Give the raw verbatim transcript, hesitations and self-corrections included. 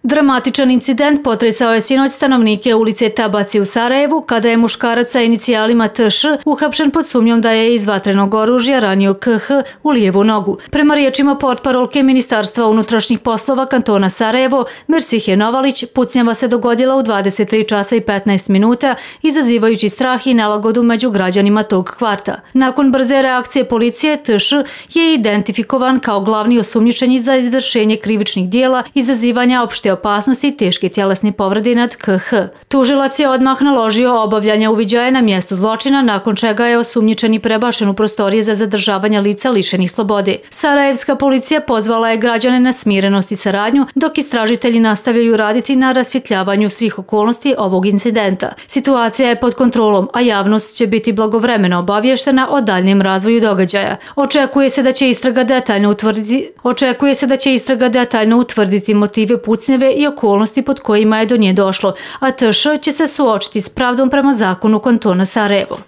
Dramatičan incident potresao je sinoć stanovnike ulice Tabaci u Sarajevu kada je muškarac sa inicijalima T Š uhapšen pod sumnjom da je iz vatrenog oružja ranio K H u lijevu nogu. Prema riječima portparolke Ministarstva unutrašnjih poslova kantona Sarajevo, Mersihe Novalić, pucnjava se dogodila u dvadeset tri časa i petnaest minuta, izazivajući strah i nelagodu među građanima tog kvarta. Nakon brze reakcije policije, T Š je identifikovan kao glavni osumnjičeni za izvršenje krivičnih dijela izazivanja opšte opasnosti i teške tjelesne povrede nad K H. Tužilac je odmah naložio obavljanje uviđaja na mjestu zločina, nakon čega je osumnjičeni prebačen u prostorije za zadržavanje lica lišenih slobode. Sarajevska policija pozvala je građane na smirenost i saradnju, dok istražitelji nastavljaju raditi na rasvjetljavanju svih okolnosti ovog incidenta. Situacija je pod kontrolom, a javnost će biti blagovremeno obavještena o daljnjem razvoju događaja. Očekuje se da će istraga detaljno utvrditi, očekuje se da će istraga detaljno utvrditi motive pucnjave i okolnosti pod kojima je do nje došlo, a T Š će se suočiti s pravdom prema zakonu kantona Sarajevo.